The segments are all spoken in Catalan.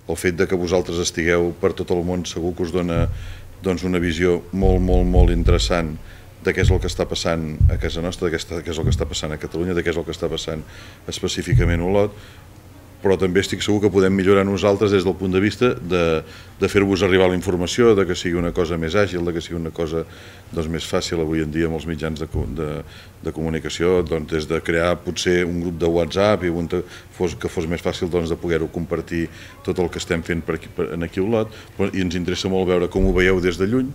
el fet de que vosaltres estigueu per tot el món segur que us dona una visió molt interessant de què és el que està passant a casa nostra, de què és el que està passant a Catalunya, de què és el que està passant específicament a Olot, però també estic segur que podem millorar nosaltres des del punt de vista de fer-vos arribar la informació, de que sigui una cosa més àgil, de que sigui una cosa més fàcil avui en dia amb els mitjans de comunicació, des de crear potser un grup de WhatsApp i que fos més fàcil de poder-ho compartir tot el que estem fent aquí a Olot, i ens interessa molt veure com ho veieu des de lluny,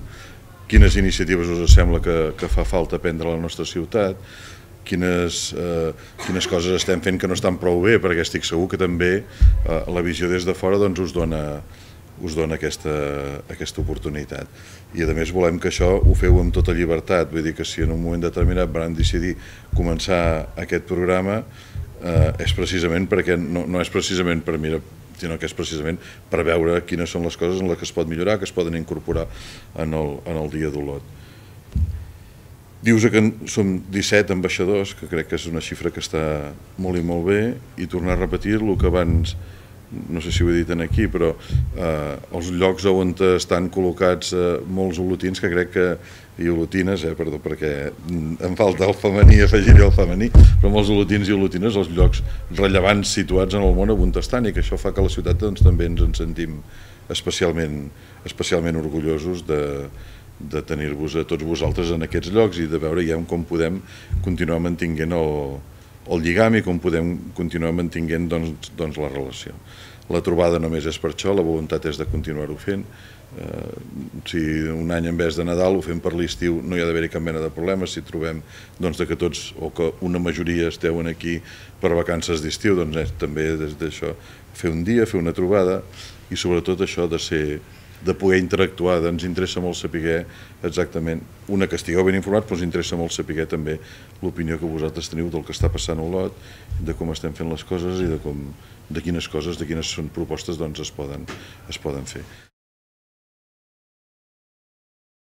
quines iniciatives us sembla que fa falta prendre a la nostra ciutat, quines coses estem fent que no estan prou bé, perquè estic segur que també la visió des de fora us dona aquesta oportunitat. I a més volem que això ho feu amb tota llibertat, vull dir que si en un moment determinat van decidir començar aquest programa és precisament perquè no és precisament per mirar, sinó que és precisament per veure quines són les coses en les que es pot millorar, que es poden incorporar en el dia d'Olot. Dius que som 17 ambaixadors, que crec que és una xifra que està molt i molt bé, i tornar a repetir el que abans, no sé si ho he dit aquí, però els llocs on estan col·locats molts olotins, que crec que, i olotines, perdó, perquè em falta el femení, afegiré el femení, però molts olotins i olotines, els llocs rellevants situats en el món on estan, i que això fa que a la ciutat també ens en sentim especialment orgullosos de tenir-vos a tots vosaltres en aquests llocs i de veure ja com podem continuar mantinguent el lligam i com podem continuar mantinguent la relació. La trobada només és per això, la voluntat és de continuar-ho fent. Si un any en vez de Nadal ho fem per l'estiu no hi ha d'haver-hi cap mena de problema. Si trobem que tots o que una majoria esteu aquí per vacances d'estiu, també des d'això fer un dia, fer una trobada i sobretot això de poder interactuar. Ens interessa molt saber exactament, una, que estigueu ben informats, però ens interessa molt saber també l'opinió que vosaltres teniu del que està passant a Olot, de com estem fent les coses i de quines coses, de quines propostes es poden fer.